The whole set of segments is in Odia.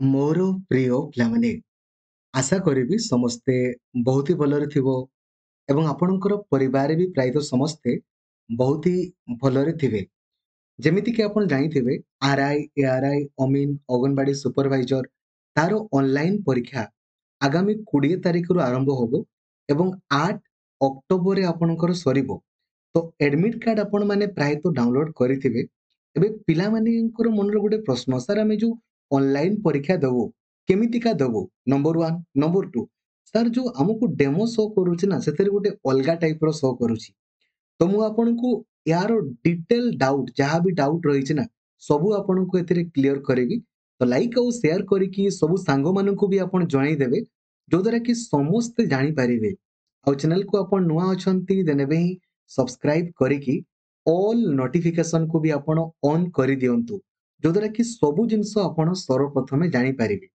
ମୋର ପ୍ରିୟ ପିଲାମାନେ, ଆଶା କରିବି ସମସ୍ତେ ବହୁତ ହି ଭଲରେ ଥିବ ଏବଂ ଆପଣଙ୍କର ପରିବାର ବି ପ୍ରାୟତଃ ସମସ୍ତେ ବହୁତ ହି ଭଲରେ ଥିବେ। ଯେମିତିକି ଆପଣ ଜାଣିଥିବେ ଆର୍ I, A R I, ଅମିନ, ଅଙ୍ଗନବାଡ଼ି ସୁପରଭାଇଜର ତାର ଅନଲାଇନ୍ ପରୀକ୍ଷା ଆଗାମୀ 20 ତାରିଖରୁ ଆରମ୍ଭ ହେବ ଏବଂ 8 ଅକ୍ଟୋବରରେ ଆପଣଙ୍କର ସରିବ। ତ ଆଡ଼ମିଟ୍ କାର୍ଡ଼ ଆପଣମାନେ ପ୍ରାୟତଃ ଡାଉନଲୋଡ଼ କରିଥିବେ। ଏବେ ପିଲାମାନଙ୍କର ମନରେ ଗୋଟେ ପ୍ରଶ୍ନ, ସାର୍ ଆମେ ଯେଉଁ ଅନଲାଇନ୍ ପରୀକ୍ଷା ଦେବୁ କେମିତିକା ଦେବୁ? ନମ୍ବର 1। ନମ୍ବର 2, ସାର୍ ଯେଉଁ ଆମକୁ ଡେମୋ ଶୋ କରୁଛି ନା ସେଥିରେ ଗୋଟେ ଅଲଗା ଟାଇପ୍ର ଶୋ କରୁଛି। ତ ମୁଁ ଆପଣଙ୍କୁ ୟାର ଡିଟେଲ ଡାଉଟ୍ ଯାହା ବି ଡାଉଟ୍ ରହିଛି ନା ସବୁ ଆପଣଙ୍କୁ ଏଥିରେ କ୍ଲିଅର କରିବି। ତ ଲାଇକ୍ ଆଉ ସେୟାର କରିକି ସବୁ ସାଙ୍ଗମାନଙ୍କୁ ବି ଆପଣ ଜଣାଇଦେବେ, ଯଦ୍ୱାରା କି ସମସ୍ତେ ଜାଣିପାରିବେ। ଆଉ ଚ୍ୟାନେଲକୁ ଆପଣ ନୂଆ ଅଛନ୍ତି ଦେନ୍ ଏବେ ହିଁ ସବସ୍କ୍ରାଇବ୍ କରିକି ଅଲ୍ ନୋଟିଫିକେସନକୁ ବି ଆପଣ ଅନ୍ କରିଦିଅନ୍ତୁ, ଯଦ୍ୱାରା କି ସବୁ ଜିନିଷ ଆପଣ ସର୍ବପ୍ରଥମେ ଜାଣିପାରିବେ।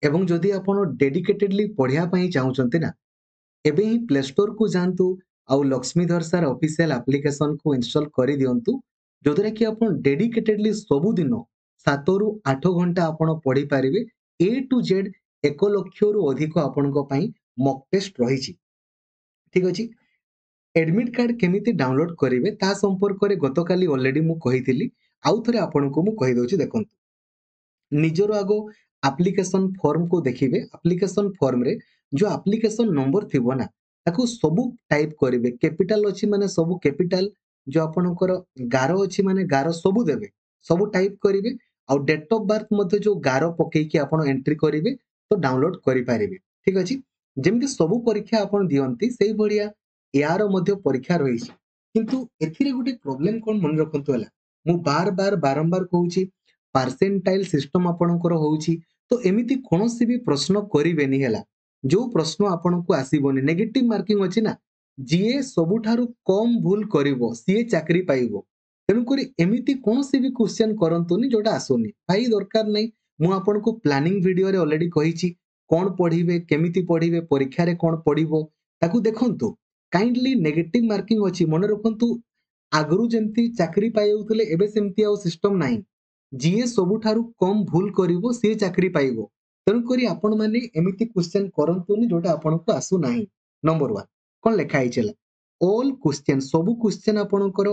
ଏବଂ ଯଦି ଆପଣ ଡେଡିକେଟେଡଲି ପଢ଼ିବା ପାଇଁ ଚାହୁଁଛନ୍ତି ନା, ଏବେ ହିଁ ପ୍ଲେ ଷ୍ଟୋରକୁ ଯାଆନ୍ତୁ ଆଉ ଲକ୍ଷ୍ମୀଧର ସାର୍ ଅଫିସିଆଲ ଆପ୍ଲିକେସନକୁ ଇନଷ୍ଟଲ୍ କରିଦିଅନ୍ତୁ, ଯଦ୍ୱାରା କି ଆପଣ ଡେଡିକେଟେଡଲି ସବୁଦିନ 7ରୁ 8 ଘଣ୍ଟା ଆପଣ ପଢ଼ିପାରିବେ। ଏ ଟୁ ଜେଡ୍ 1 ଲକ୍ଷରୁ ଅଧିକ ଆପଣଙ୍କ ପାଇଁ ମକ୍ ଟେଷ୍ଟ ରହିଛି। ଠିକ୍ ଅଛି, ଆଡ଼ମିଟ୍ କାର୍ଡ଼ କେମିତି ଡାଉନଲୋଡ଼ କରିବେ ତା ସମ୍ପର୍କରେ ଗତକାଲି ଅଲରେଡ଼ି ମୁଁ କହିଥିଲି, ଆଉ ଥରେ ଆପଣଙ୍କୁ ମୁଁ କହିଦେଉଛି। ଦେଖନ୍ତୁ, ନିଜର ଆଗ ଆପ୍ଲିକେସନ୍ ଫର୍ମକୁ ଦେଖିବେ। ଆପ୍ଲିକେସନ୍ ଫର୍ମରେ ଯେଉଁ ଆପ୍ଲିକେସନ୍ ନମ୍ବର ଥିବ ନା ତାକୁ ସବୁ ଟାଇପ୍ କରିବେ। କ୍ୟାପିଟାଲ ଅଛି ମାନେ ସବୁ କ୍ୟାପିଟାଲ, ଯେଉଁ ଆପଣଙ୍କର ଗାର ଅଛି ମାନେ ଗାର ସବୁ ଦେବେ, ସବୁ ଟାଇପ୍ କରିବେ। ଆଉ ଡେଟ୍ ଅଫ୍ ବାର୍ଥ ମଧ୍ୟ ଯେଉଁ ଗାର ପକେଇକି ଆପଣ ଏଣ୍ଟ୍ରି କରିବେ ତ ଡାଉନଲୋଡ଼ କରିପାରିବେ। ଠିକ୍ ଅଛି, ଯେମିତି ସବୁ ପରୀକ୍ଷା ଆପଣ ଦିଅନ୍ତି ସେଇଭଳିଆ ଏହାର ମଧ୍ୟ ପରୀକ୍ଷା ରହିଛି। କିନ୍ତୁ ଏଥିରେ ଗୋଟେ ପ୍ରୋବ୍ଲେମ୍ କ'ଣ ମନେ ରଖନ୍ତୁ ହେଲା, ମୁଁ ବାର ବାର ବାରମ୍ବାର କହୁଛି, ପାର୍ସେଣ୍ଟାଇଲ୍ ସିଷ୍ଟମ୍ ଆପଣଙ୍କର ହେଉଛି, ତ ଏମିତି କୌଣସି ବି ପ୍ରଶ୍ନ କରିବେନି ହେଲା, ଯେଉଁ ପ୍ରଶ୍ନ ଆପଣଙ୍କୁ ଆସିବନି। ନେଗେଟିଭ୍ ମାର୍କିଂ ଅଛି ନା, ଯିଏ ସବୁଠାରୁ କମ୍ ଭୁଲ କରିବ ସିଏ ଚାକିରି ପାଇବ। ତେଣୁକରି ଏମିତି କୌଣସି ବି କ୍ୱେଶ୍ଚନ୍ କରନ୍ତୁନି ଯେଉଁଟା ଆସୁନି। ଭାଇ ଦରକାର ନାହିଁ, ମୁଁ ଆପଣଙ୍କୁ ପ୍ଲାନିଂ ଭିଡ଼ିଓରେ ଅଲରେଡ଼ି କହିଛି କ'ଣ ପଢ଼ିବେ, କେମିତି ପଢ଼ିବେ, ପରୀକ୍ଷାରେ କ'ଣ ପଢ଼ିବ ତାକୁ ଦେଖନ୍ତୁ। କାଇଣ୍ଡଲି ନେଗେଟିଭ୍ ମାର୍କିଂ ଅଛି, ମନେ ରଖନ୍ତୁ। ଆଗରୁ ଯେମିତି ଚାକିରି ପାଇଯାଉଥିଲେ ଏବେ ସେମିତି ଆଉ ସିଷ୍ଟମ୍ ନାହିଁ। ଯିଏ ସବୁଠାରୁ କମ୍ ଭୁଲ କରିବ ସିଏ ଚାକିରି ପାଇବ। ତେଣୁକରି ଆପଣମାନେ ଏମିତି କ୍ୱେଶ୍ଚନ୍ କରନ୍ତୁନି ଯେଉଁଟା ଆପଣଙ୍କୁ ଆସୁନାହିଁ। ନମ୍ବର 1, କ'ଣ ଲେଖା ହେଇଛି ହେଲା, ଅଲ୍ କ୍ୱେଶ୍ଚନ୍, ସବୁ କ୍ୱେଶ୍ଚନ୍ ଆପଣଙ୍କର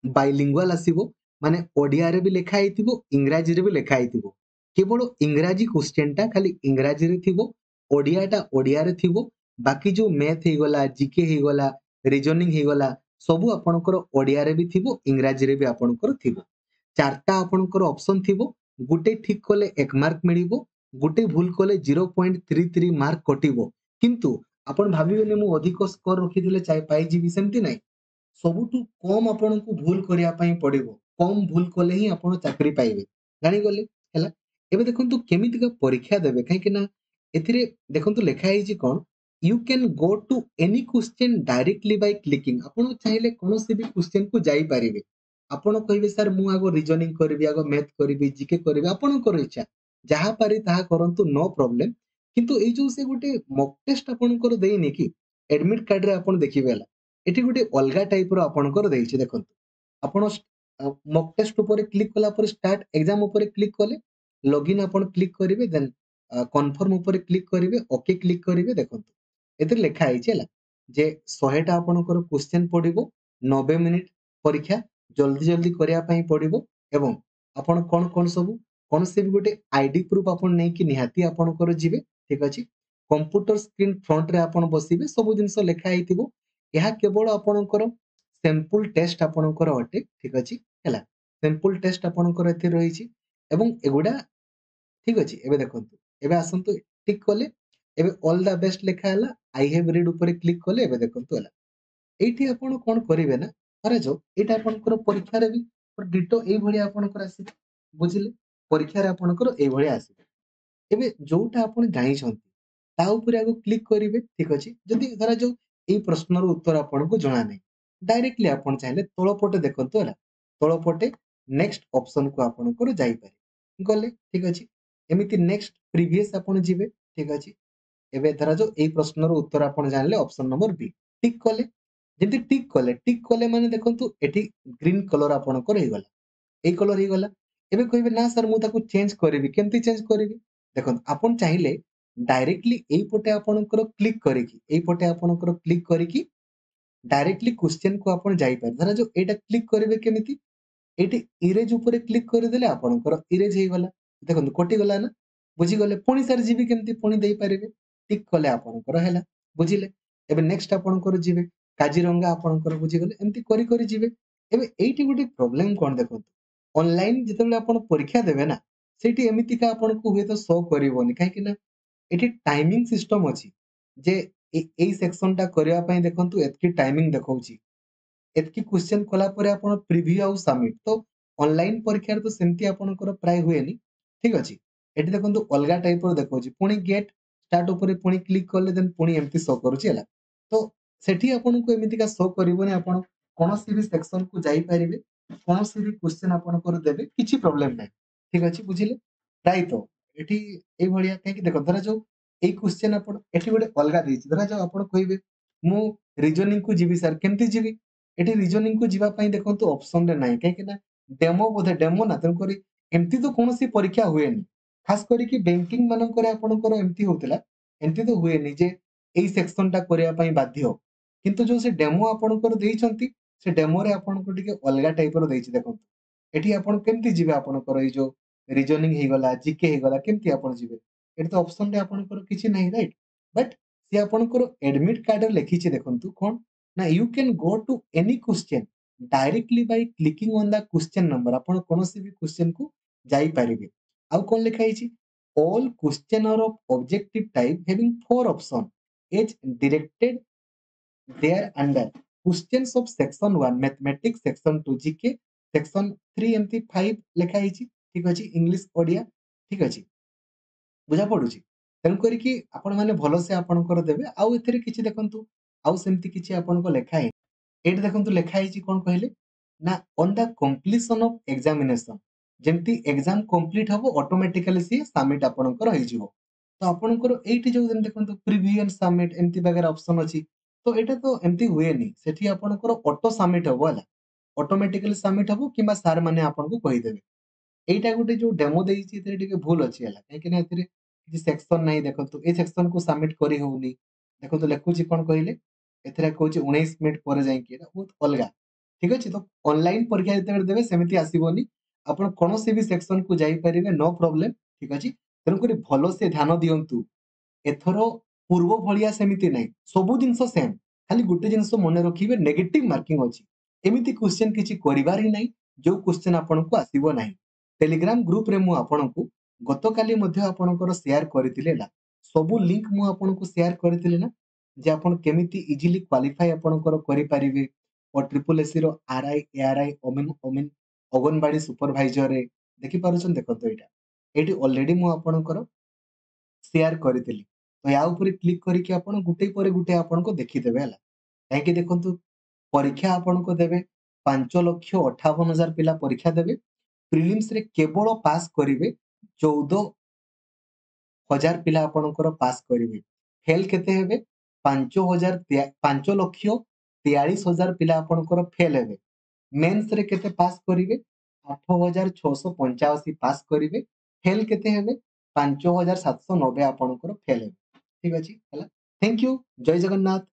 ବାଇଲିଙ୍ଗୁଆଲ ଆସିବ, ମାନେ ଓଡ଼ିଆରେ ବି ଲେଖା ହେଇଥିବ ଇଂରାଜୀରେ ବି ଲେଖା ହେଇଥିବ। କେବଳ ଇଂରାଜୀ କ୍ୱେଶ୍ଚନ୍ଟା ଖାଲି ଇଂରାଜୀରେ ଥିବ, ଓଡ଼ିଆଟା ଓଡ଼ିଆରେ ଥିବ। ବାକି ଯେଉଁ ମ୍ୟାଥ୍ ହେଇଗଲା, ଜିକେ ହେଇଗଲା, ରିଜନିଂ ହେଇଗଲା, ସବୁ ଆପଣଙ୍କର ଓଡ଼ିଆରେ ବି ଥିବ ଇଂରାଜୀରେ ବି ଆପଣଙ୍କର ଥିବ। 4ଟା ଆପଣଙ୍କର ଅପସନ୍ ଥିବ, ଗୋଟେ ଠିକ୍ କଲେ 1 ମାର୍କ ମିଳିବ, ଗୋଟେ ଭୁଲ କଲେ 0.33 ମାର୍କ କଟିବ। କିନ୍ତୁ ଆପଣ ଭାବିବେନି ମୁଁ ଅଧିକ ସ୍କୋର ରଖିଥିଲେ ପାଇଯିବି, ସେମିତି ନାହିଁ। ସବୁଠୁ କମ୍ ଆପଣଙ୍କୁ ଭୁଲ କରିବା ପାଇଁ ପଡ଼ିବ, କମ୍ ଭୁଲ କଲେ ହିଁ ଆପଣ ଚାକିରି ପାଇବେ। ଜାଣିଗଲେ ହେଲା। ଏବେ ଦେଖନ୍ତୁ କେମିତିକା ପରୀକ୍ଷା ଦେବେ, କାହିଁକି ନା ଏଥିରେ ଦେଖନ୍ତୁ ଲେଖା ହେଇଛି କ'ଣ, you can go to any question directly by clicking. ଆପଣ ଚାହିଁଲେ କୌଣସି ବି କ୍ୱେଶ୍ଚନ୍କୁ ଯାଇପାରିବେ। ଆପଣ କହିବେ ସାର୍ ମୁଁ ଆଗ ରିଜନିଂ କରିବି, ଆଗ ମ୍ୟାଥ୍ କରିବି, ଜିକେ କରିବି, ଆପଣଙ୍କର ଇଚ୍ଛା, ଯାହା ପାରି ତାହା କରନ୍ତୁ, ନୋ ପ୍ରୋବ୍ଲେମ୍। କିନ୍ତୁ ଏଇ ଯେଉଁ ସେ ଗୋଟେ ମକ୍ ଟେଷ୍ଟ ଆପଣଙ୍କର ଦେଇନି କି ଆଡ଼ମିଟ୍ କାର୍ଡ଼ରେ ଆପଣ ଦେଖିବେ ହେଲା, ଏଠି ଗୋଟେ ଅଲଗା ଟାଇପ୍ର ଆପଣଙ୍କର ଦେଇଛି। ଦେଖନ୍ତୁ ଆପଣ ମକ୍ ଟେଷ୍ଟ ଉପରେ କ୍ଲିକ୍ କଲା ପରେ ଷ୍ଟାର୍ଟ ଏକ୍ଜାମ୍ ଉପରେ କ୍ଲିକ୍ କଲେ, ଲଗ୍ଇନ୍ ଆପଣ କ୍ଲିକ୍ କରିବେ, ଦେନ୍ କନଫର୍ମ ଉପରେ କ୍ଲିକ୍ କରିବେ, ଓକେ କ୍ଲିକ୍ କରିବେ। ଦେଖନ୍ତୁ ଏଥିରେ ଲେଖା ହେଇଛି ହେଲା ଯେ 100ଟା ଆପଣଙ୍କର କ୍ୱେଶ୍ଚନ୍ ପଡ଼ିବ, 90 ମିନିଟ୍ ପରୀକ୍ଷା, ଜଲ୍ଦି ଜଲ୍ଦି କରିବା ପାଇଁ ପଡ଼ିବ। ଏବଂ ଆପଣ କ'ଣ କ'ଣ ସବୁ କୌଣସି ବି ଗୋଟେ I D proof ଆପଣ ନେଇକି ନିହାତି ଆପଣଙ୍କର ଯିବେ। ଠିକ୍ ଅଛି, କମ୍ପ୍ୟୁଟର ସ୍କ୍ରିନ୍ ଫ୍ରଣ୍ଟରେ ଆପଣ ବସିବେ, ସବୁ ଜିନିଷ ଲେଖା ହେଇଥିବ। ଏହା କେବଳ ଆପଣଙ୍କର ସାମ୍ପୁଲ୍ ଟେଷ୍ଟ ଆପଣଙ୍କର ଅଟେ। ଠିକ୍ ଅଛି ହେଲା, ସାମ୍ପୁଲ୍ ଟେଷ୍ଟ ଆପଣଙ୍କର ଏଥିରେ ରହିଛି ଏବଂ ଏଗୁଡ଼ା ଠିକ୍ ଅଛି। ଏବେ ଦେଖନ୍ତୁ, ଏବେ ଆସନ୍ତୁ ଟିକ୍ କଲେ, ଏବେ ଅଲ୍ the best ଲେଖା ହେଲା, I have read ଉପରେ କ୍ଲିକ୍ କଲେ। ଏବେ ଦେଖନ୍ତୁ ହେଲା, ଏଇଠି ଆପଣ କ'ଣ କରିବେ ନା, ଧରାଯାଉ ଏଇଟା ଆପଣଙ୍କର ପରୀକ୍ଷାରେ ବି ଡିଟୋ ଏଇଭଳିଆ ଆପଣଙ୍କର ଆସିବ। ବୁଝିଲେ, ପରୀକ୍ଷାରେ ଆପଣଙ୍କର ଏଇଭଳିଆ ଆସିବ। ଏବେ ଯୋଉଟା ଆପଣ ଜାଣିଛନ୍ତି ତା ଉପରେ ଆଗ କ୍ଲିକ୍ କରିବେ। ଠିକ୍ ଅଛି, ଯଦି ଧରାଯାଉ ଏଇ ପ୍ରଶ୍ନର ଉତ୍ତର ଆପଣଙ୍କୁ ଜଣା ନାହିଁ, ଡାଇରେକ୍ଟଲି ଆପଣ ଚାହିଁଲେ ତଳ ପଟେ ଦେଖନ୍ତୁ ହେଲା, ତଳ ପଟେ ନେକ୍ସଟ ଅପସନକୁ ଆପଣଙ୍କର ଯାଇପାରିବେ ଗଲେ। ଠିକ୍ ଅଛି, ଏମିତି ନେକ୍ସଟ ପ୍ରିଭିୟସ୍ ଆପଣ ଯିବେ। ଠିକ୍ ଅଛି, ଏବେ ଧରାଯାଉ ଏଇ ପ୍ରଶ୍ନର ଉତ୍ତର ଆପଣ ଜାଣିଲେ, ଅପସନ ନମ୍ବର ବି ଟିକ୍ କଲେ। ଯେମିତି ଟିକ୍ କଲେ, ଟିକ୍ କଲେ ମାନେ ଦେଖନ୍ତୁ ଏଠି ଗ୍ରୀନ୍ କଲର ଆପଣଙ୍କର ହେଇଗଲା, ଏଇ କଲର ହେଇଗଲା। ଏବେ କହିବେ ନା ସାର୍ ମୁଁ ତାକୁ ଚେଞ୍ଜ କରିବି, କେମିତି ଚେଞ୍ଜ କରିବି? ଦେଖନ୍ତୁ ଆପଣ ଚାହିଁଲେ ଡାଇରେକ୍ଟଲି ଏଇପଟେ ଆପଣଙ୍କର କ୍ଲିକ୍ କରିକି, ଏଇପଟେ ଆପଣଙ୍କର କ୍ଲିକ୍ କରିକି ଡାଇରେକ୍ଟଲି କ୍ୱେଶ୍ଚନକୁ ଆପଣ ଯାଇପାରିବେ। ଧରାଯାଉ ଏଇଟା କ୍ଲିକ୍ କରିବେ କେମିତି? ଏଇଠି ଇରେଜ୍ ଉପରେ କ୍ଲିକ୍ କରିଦେଲେ ଆପଣଙ୍କର ଇରେଜ୍ ହେଇଗଲା। ଦେଖନ୍ତୁ କଟିଗଲା ନା, ବୁଝିଗଲେ? ପୁଣି ସାର୍ ଯିବି କେମିତି? ପୁଣି ଦେଇପାରିବେ, ଟିକ୍ କଲେ ଆପଣଙ୍କର ହେଲା, ବୁଝିଲେ? ଏବେ ନେକ୍ସଟ ଆପଣଙ୍କର ଯିବେ କାଜିରଙ୍ଗା ଆପଣଙ୍କର, ବୁଝିଗଲେ? ଏମିତି କରି କରି ଯିବେ। ଏବେ ଏଇଠି ଗୋଟେ ପ୍ରୋବ୍ଲେମ କଣ ଦେଖନ୍ତୁ, ଅନଲାଇନ ଯେତେବେଳେ ଆପଣ ପରୀକ୍ଷା ଦେବେ ନା, ସେଇଠି ଏମିତିକା ଆପଣଙ୍କୁ ହୁଏତ ଶୋ କରିବନି, କାହିଁକି ନା ଏଠି ଟାଇମିଂ ସିଷ୍ଟମ ଅଛି ଯେ ଏଇ ସେକ୍ସନଟା କରିବା ପାଇଁ ଦେଖନ୍ତୁ ଏତିକି ଟାଇମିଂ ଦେଖଉଛି, ଏତିକି କ୍ୱେଶ୍ଚନ କଲା ପରେ ଆପଣ ପ୍ରିଭ୍ୟୁ ଆଉ ସବମିଟ। ତ ଅନଲାଇନ ପରୀକ୍ଷାରେ ତ ସେମିତି ଆପଣଙ୍କର ପ୍ରାୟ ହୁଏନି, ଠିକ ଅଛି? ଏଠି ଦେଖନ୍ତୁ ଅଲଗା ଟାଇପର ଦେଖଉଛି, ପୁଣି ଗେଟ୍ ଷ୍ଟାର୍ଟ ଉପରେ ପୁଣି କ୍ଲିକ୍ କଲେ ଦେନ୍ ପୁଣି ଏମିତି ଶୋ କରୁଛି ହେଲା। ତ ସେଠି ଆପଣଙ୍କୁ ଏମିତିକା ଶୋ କରିବନି, ଆପଣ କୌଣସି ବି ସେକ୍ସନକୁ ଯାଇପାରିବେ, କୌଣସି ବି କ୍ୱେଶ୍ଚନ ଆପଣଙ୍କର ଦେବେ, କିଛି ପ୍ରୋବ୍ଲେମ ନାହିଁ, ଠିକ ଅଛି? ବୁଝିଲେ? ପ୍ରାୟତଃ ଏଠି ଏଇଭଳିଆ, କାହିଁକି ଦେଖ ଧରାଯାଉ ଏଇ କ୍ୱେଶ୍ଚନ ଆପଣ ଏଠି ଗୋଟେ ଅଲଗା ଦେଇଛି, ଧରାଯାଉ ଆପଣ କହିବେ ମୁଁ ରିଜନିଂକୁ ଯିବି ସାର୍, କେମିତି ଯିବି? ଏଠି ରିଜନିଂକୁ ଯିବା ପାଇଁ ଦେଖନ୍ତୁ ଅପସନରେ ନାହିଁ, କାହିଁକି ନା ଡେମୋ ବୋଧେ ଡେମୋ ନା, ତେଣୁକରି ଏମିତି ତ କୌଣସି ପରୀକ୍ଷା ହୁଏନି, ଖାସ କରିକି ବ୍ୟାଙ୍କିଂ ମାନଙ୍କରେ ଆପଣଙ୍କର ଏମିତି ହଉଥିଲା, ଏମିତି ତ ହୁଏନି ଯେ ଏଇ ସେକ୍ସନଟା କରିବା ପାଇଁ ବାଧ୍ୟ। କିନ୍ତୁ ଯୋଉ ସେ ଡେମୋ ଆପଣଙ୍କର ଦେଇଛନ୍ତି, ସେ ଡେମୋରେ ଆପଣଙ୍କୁ ଟିକେ ଅଲଗା ଟାଇପର ଦେଇଛି। ଦେଖନ୍ତୁ ଏଠି ଆପଣ କେମିତି ଯିବେ, ଆପଣଙ୍କର ଏଇ ଯୋଉ ରିଜନିଂ ହେଇଗଲା, ଜିକେ ହେଇଗଲା, କେମିତି ଆପଣ ଯିବେ? ଏଠି ତ ଅପସନରେ ଆପଣଙ୍କର କିଛି ନାହିଁ, ରାଇଟ୍? ବଟ୍ ସିଏ ଆପଣଙ୍କର ଆଡମିଟ୍ କାର୍ଡରେ ଲେଖିଛି, ଦେଖନ୍ତୁ କଣ ନା you can go to any question directly by clicking on the question number. ଆପଣ କୌଣସି ବି କ୍ୱେଶ୍ଚନକୁ ଯାଇପାରିବେ। ଆଉ କଣ ଲେଖା ହେଇଛି? All question are of objective type having 4 option as directed there under questions of section 1 mathematics, section 2 GK, section 3 ଏମିତି 5 ଲେଖା ହେଇଛି, ଠିକ ଅଛି? ଇଂଲିଶ ଓଡ଼ିଆ, ଠିକ ଅଛି? ବୁଝା ପଡୁଛି? ତେଣୁ କରିକି ଆପଣ ମାନେ ଭଲସେ ଆପଣଙ୍କର ଦେବେ। ଆଉ ଏଥିରେ କିଛି ଦେଖନ୍ତୁ ଆଉ ସେମିତି କିଛି ଆପଣଙ୍କ ଲେଖା ହେଇନି। ଏଇଠି ଦେଖନ୍ତୁ ଲେଖା ହେଇଛି କଣ କହିଲେ ନା on the completion of examination, ଯେମିତି ଏକ୍ସାମ କମ୍ପ୍ଲିଟ ହବ ଅଟୋମେଟିକାଲି ସିଏ ସବମିଟ ଆପଣଙ୍କର ହେଇଯିବ। ତ ଆପଣଙ୍କର ଏଇଠି ଯୋଉ ଯେମିତି ଦେଖନ୍ତୁ ପ୍ରିଭ୍ୟୁ ଆଣ୍ଡ ସବମିଟ ଏମିତି ବାଗେରା ଅପସନ ଅଛି, ତ ଏଇଟା ତ ଏମିତି ହୁଏନି, ସେଠି ଆପଣଙ୍କର ଅଟୋ ସବମିଟ ହବ ହେଲା, ଅଟୋମେଟିକାଲି ସବମିଟ ହବ କିମ୍ବା ସାର୍ ମାନେ ଆପଣଙ୍କୁ କହିଦେବେ। ଏଇଟା ଗୋଟେ ଯୋଉ ଡେମୋ ଦେଇଛି ଏଥିରେ ଟିକେ ଭୁଲ ଅଛି ହେଲା, କାହିଁକି ନା ଏଥିରେ କିଛି ସେକ୍ସନ ନାହିଁ। ଦେଖନ୍ତୁ ଏଇ ସେକ୍ସନକୁ ସବମିଟ କରି ହଉନି, ଦେଖନ୍ତୁ ଲେଖୁଛି କଣ କହିଲେ ଏଥିରେ କହୁଛି 19 ମିନିଟ ପରେ ଯାଇକି, ଏଇଟା ବହୁତ ଅଲଗା, ଠିକ ଅଛି? ତ ଅନଲାଇନ ପରୀକ୍ଷା ଯେତେବେଳେ ଦେବେ ସେମିତି ଆସିବନି, ଆପଣ କୌଣସି ବି ସେକ୍ସନକୁ ଯାଇପାରିବେ, ନୋ ପ୍ରୋବ୍ଲେମ, ଠିକ ଅଛି? ତେଣୁକରି ଭଲସେ ଧ୍ୟାନ ଦିଅନ୍ତୁ। ଏଥର ପୂର୍ବ ଭଳିଆ ସେମିତି ନାହିଁ, ସବୁ ଜିନିଷ ସେମ୍, ଖାଲି ଗୋଟେ ଜିନିଷ ମନେ ରଖିବେ ନେଗେଟିଭ ମାର୍କିଂ ଅଛି। ଏମିତି କ୍ୱେଶ୍ଚନ କିଛି କରିବାର ହିଁ ନାହିଁ ଯୋଉ କ୍ୱେଶ୍ଚନ ଆପଣଙ୍କୁ ଆସିବ ନାହିଁ। ଟେଲିଗ୍ରାମ ଗ୍ରୁପରେ ମୁଁ ଆପଣଙ୍କୁ ଗତକାଲି ମଧ୍ୟ ଆପଣଙ୍କର ସେୟାର କରିଥିଲି ହେଲା, ସବୁ ଲିଙ୍କ ମୁଁ ଆପଣଙ୍କୁ ସେୟାର କରିଥିଲି ନା, ଯେ ଆପଣ କେମିତି ଇଜିଲି କ୍ୱାଲିଫାଇ ଆପଣଙ୍କର କରିପାରିବେ ଓ ଟ୍ରିପଲ ଏସି ର ଆର୍ I, A R I, ଅମିନ, ଅମିନ ଅଙ୍ଗନବାଡି ସୁପରଭାଇଜରରେ ଦେଖିପାରୁଛନ୍ତି। ଦେଖନ୍ତୁ ଏଇଟା ଏଇଠି ଅଲରେଡି ମୁଁ ଆପଣଙ୍କର ସେୟାର କରିଥିଲି, ତ ୟା ଉପରେ କ୍ଲିକ୍ କରିକି ଆପଣ ଗୋଟେ ପରେ ଗୋଟେ ଆପଣଙ୍କୁ ଦେଖିଦେବେ ହେଲା। କାହିଁକି ଦେଖନ୍ତୁ ପରୀକ୍ଷା ଆପଣଙ୍କୁ ଦେବେ 5,58,000 ପିଲା ପରୀକ୍ଷା ଦେବେ, ପ୍ରିଲିମ୍ସରେ କେବଳ ପାସ୍ କରିବେ 14,000 ପିଲା ଆପଣଙ୍କର ପାସ୍ କରିବେ, ଫେଲ୍ କେତେ ହେବେ 5,43,000 ପିଲା ଆପଣଙ୍କର ଫେଲ୍ ହେବେ, ମେନ୍ସରେ କେତେ ପାସ୍ କରିବେ 8,685 ପାସ୍ କରିବେ, ଫେଲ୍ କେତେ ହେବେ 5,790 ଆପଣଙ୍କର ଫେଲ୍ ହେବେ, ଠିକ ଅଛି ହେଲା। Thank you, Jay Jagannath.